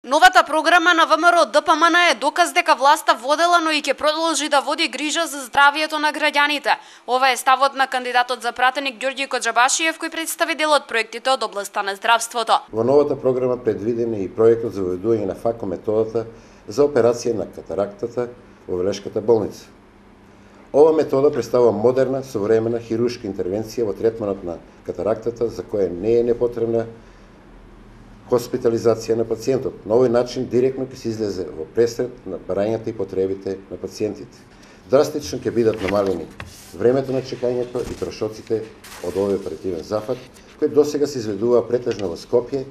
Новата програма на ВМРО ДПМН е доказ дека власта водела, но и ќе продолжи да води грижа за здравието на граѓаните. Ова е ставот на кандидатот за пратеник Ѓорѓи Коџабашиев, кој представи дел од проектите од областта на здравството. Во новата програма предвиден е и проектот за воведување на факометодата за операција на катарактата во Велешката болница. Ова метода представува модерна, современа хируршка интервенција во третманот на катарактата, за која не е непотребна хоспитализација на пациентот. На овој начин директно ќе се излезе во пресред на барањата и потребите на пациентите. Драстично ќе бидат намалени времето на чекањето и трошоците од овој оперативен зафат, кој досега се изведува претежно во Скопје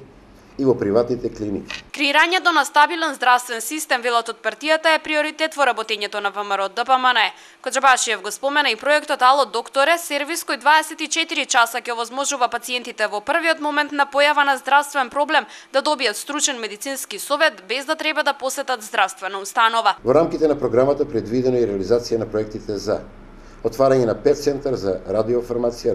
и во приватните клиники. Креирањето на стабилен здравствен систем, велот од партијата, е приоритет во работењето на ВМРО ДПМН. Коџабашиев го спомена и проектот Ало докторе, сервис кој 24 часа ќе овозможува пациентите во првиот момент на појава на здравствен проблем да добијат стручен медицински совет без да треба да посетат здравствена установа. Во рамките на програмата предвидено и реализација на проектите за отварање на 5 центар за радиофармација,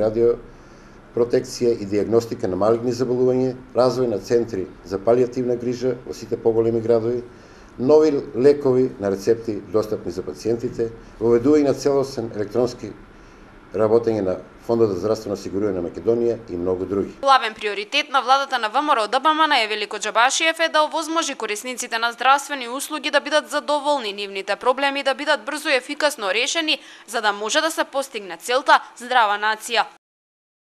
протекција и диагностика на малигни заболувања, развој на центри за палијативна грижа во сите поголеми градови, нови лекови на рецепти достапни за пациентите, воведување на целосен електронски работење на Фондот за здравствено осигурување на Македонија и многу други. Главен приоритет на владата на ВМРО ДПМН е, вели Коџабашиев, е да овозможи корисниците на здравствени услуги да бидат задоволни, нивните проблеми да бидат брзо и ефикасно решени, за да може да се постигне целта здрава нација.